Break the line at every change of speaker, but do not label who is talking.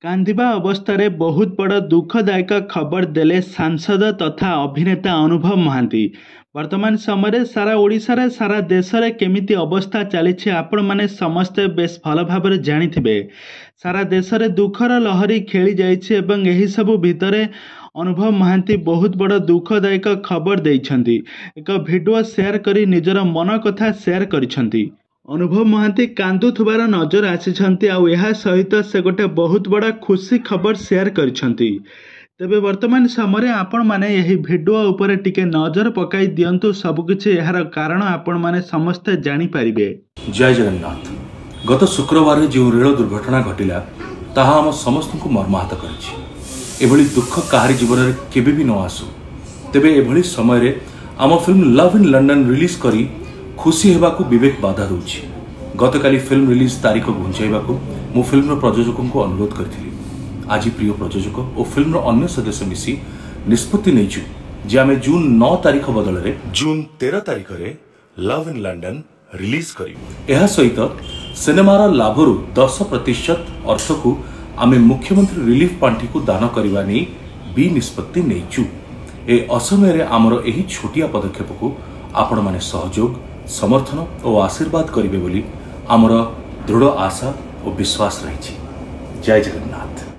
କାନ୍ଦିବା ଅବସ୍ଥାରେ ବହୁତ ବଡ଼ ଦୁଃଖଦାୟକ ଖବର ଦେଲେ ସାଂସଦ ତଥା ଅଭିନେତା ଅନୁଭବ ମହାନ୍ତି। ବର୍ତ୍ତମାନ ସମୟରେ ସାରା ଓଡ଼ିଶାରେ, ସାରା ଦେଶରେ କେମିତି ଅବସ୍ଥା ଚାଲିଛି, ଆପଣମାନେ ସମସ୍ତେ ବେଶ ଭଲ ଭାବରେ ଜାଣିଥିବେ। ସାରା ଦେଶରେ ଦୁଃଖର ଲହରୀ ଖେଳି ଯାଇଛି ଏବଂ ଏହିସବୁ ଭିତରେ ଅନୁଭବ ମହାନ୍ତି ବହୁତ ବଡ଼ ଦୁଃଖଦାୟକ ଖବର ଦେଇଛନ୍ତି। ଏକ ଭିଡ଼ିଓ ସେୟାର କରି ନିଜର ମନ କଥା ସେୟାର କରିଛନ୍ତି। ଅନୁଭବ ମହାନ୍ତି କାନ୍ଦୁଥିବାର ନଜର ଆସିଛନ୍ତି, ଆଉ ଏହା ସହିତ ସେ ଗୋଟେ ବହୁତ ବଡ଼ ଖୁସି ଖବର ସେୟାର କରିଛନ୍ତି। ତେବେ ବର୍ତ୍ତମାନ ସମୟରେ ଆପଣମାନେ ଏହି ଭିଡ଼ିଓ ଉପରେ ଟିକେ ନଜର ପକାଇ ଦିଅନ୍ତୁ, ସବୁକିଛି ଏହାର କାରଣ ଆପଣମାନେ ସମସ୍ତେ ଜାଣିପାରିବେ।
ଜୟ ଜଗନ୍ନାଥ। ଗତ ଶୁକ୍ରବାରରେ ଯେଉଁ ରେଳ ଦୁର୍ଘଟଣା ଘଟିଲା, ତାହା ଆମ ସମସ୍ତଙ୍କୁ ମର୍ମାହତ କରିଛି। ଏଭଳି ଦୁଃଖ କାହାରି ଜୀବନରେ କେବେ ବି ନ ଆସୁ। ତେବେ ଏଭଳି ସମୟରେ ଆମ film love in London release କରି ଖୁସି ହେବାକୁ ବିବେକ ବାଧା ଦେଉଛି। ଗତକାଲି ଫିଲ୍ମ ରିଲିଜ୍ ତାରିଖ ଘୁଞ୍ଚାଇବାକୁ ମୁଁ ଫିଲ୍ମର ପ୍ରଯୋଜକଙ୍କୁ ଅନୁରୋଧ କରିଥିଲି। ଆଜି ପ୍ରିୟ ପ୍ରଯୋଜକ ଓ ଫିଲ୍ମର ଅନ୍ୟ ସଦସ୍ୟ ମିଶି ନିଷ୍ପତ୍ତି ନେଇଛୁ ଯେ ଆମେ ଜୁନ୍ 9 ତାରିଖ ବଦଳରେ ଜୁନ୍ 13 ତାରିଖରେ ଲଭ୍ ଇନ୍ ଲଣ୍ଡନ ରିଲିଜ୍ କରିବୁ। ଏହା ସହିତ ସିନେମାର ଲାଭରୁ 10% ଅର୍ଥକୁ ଆମେ ମୁଖ୍ୟମନ୍ତ୍ରୀ ରିଲିଫ୍ ପାଣ୍ଠିକୁ ଦାନ କରିବା ନେଇ ବି ନିଷ୍ପତ୍ତି ନେଇଛୁ। ଏ ଅସମୟରେ ଆମର ଏହି ଛୋଟିଆ ପଦକ୍ଷେପକୁ ଆପଣମାନେ ସହଯୋଗ, ସମର୍ଥନ ଓ ଆଶୀର୍ବାଦ କରିବେ ବୋଲି ଆମର ଦୃଢ଼ ଆଶା ଓ ବିଶ୍ୱାସ ରହିଛି। ଜୟ ଜଗନ୍ନାଥ।